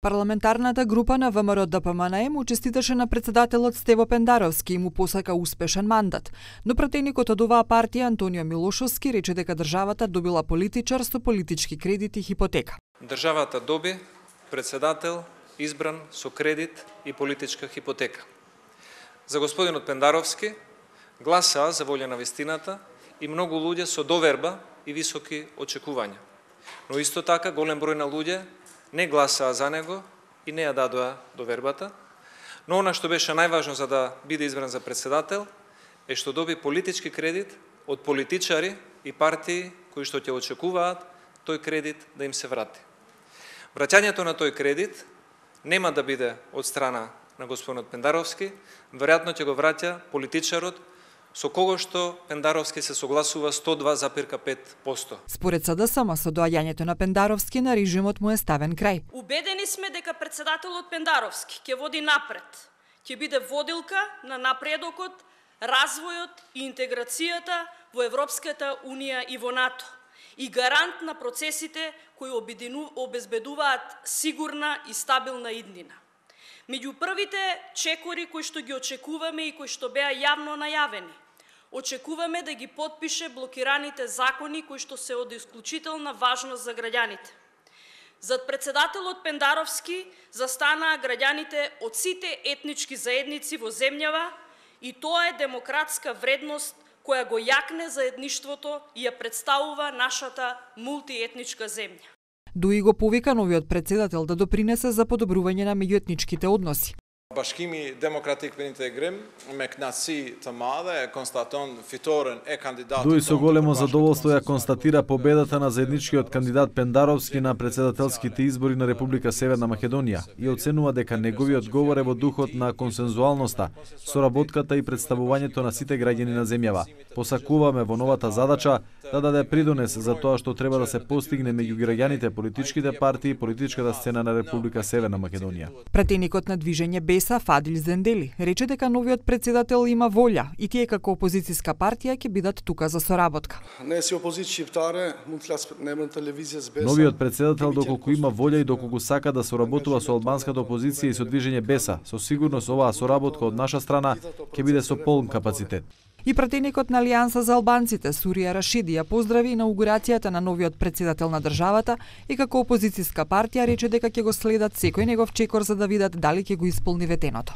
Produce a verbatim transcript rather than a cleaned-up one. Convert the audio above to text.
Парламентарната група на ВМРО Д П М Н му честиташе на председателот Стево Пендаровски и му посака успешен мандат. Но пратеникот од оваа партија Антонио Милошовски рече дека државата добила политичар со политички кредит и хипотека. Државата доби председател избран со кредит и политичка хипотека. За господинот Пендаровски гласаа за волја на вистината и многу луѓе со доверба и високи очекувања. Но исто така голем број на луѓе не гласаа за него и не ја дадоа довербата. Но она што беше најважно за да биде избран за председател е што доби политички кредит од политичари и партии кои што ќе очекуваат тој кредит да им се врати. Враќањето на тој кредит нема да биде од страна на господинот Пендаровски, веројатно ќе го враќа политичарот со кого што Пендаровски се согласува сто два запир пет проценти. Според С Д С М, со доаѓањето на Пендаровски на режимот му е ставен крај. Убедени сме дека председателот Пендаровски ќе води напред, ќе биде водилка на напредокот, развојот и интеграцијата во Европската унија и во НАТО и гарант на процесите кои обезбедуваат сигурна и стабилна иднина. Меѓу првите чекори кои што ги очекуваме и кои што беа јавно најавени, очекуваме да ги потпише блокираните закони кои што се од исклучителна важност за граѓаните. Зад председателот Пендаровски застанаа граѓаните од сите етнички заедници во земјава и тоа е демократска вредност која го јакне заедништвото и ја представува нашата мултиетничка земја. Дуи го повика новиот председател да допринесе за подобрување на меѓуетничките односи. Bashkimi Demokratik për Integrim me kënaqësi të madhe e konstaton fitoren e kandidatit. Дуи со големо задоволство ја констатира победата на заедничкиот кандидат Пендаровски на председателските избори на Република Северна Македонија и оценува дека неговиот говор е во духот на консензуалноста, соработката и представувањето на сите граѓани на земјава. Посакуваме во новата задача да даде придонес за тоа што треба да се постигне меѓу граѓаните, политичките партии и политичката сцена на Република Северна Македонија. Пратеникот на движење Беса Фадил Зендели рече дека новиот председател има волја и тие како опозицијска партија ќе бидат тука за соработка. Не си опозиција шиптаре, мund të flas në emër телевизија с Беса. Новиот председател доколку има волја и доколку сака да соработува со албанската опозиција и со движење Беса, со сигурност оваа соработка од наша страна ќе биде со полн капацитет. И пратеникот на Алијанса за албанците Сурија Рашиди ја поздрави инаугурацијата на новиот председател на државата и како опозицијска партија рече дека ќе го следат секој негов чекор за да видат дали ќе го исполни ветеното.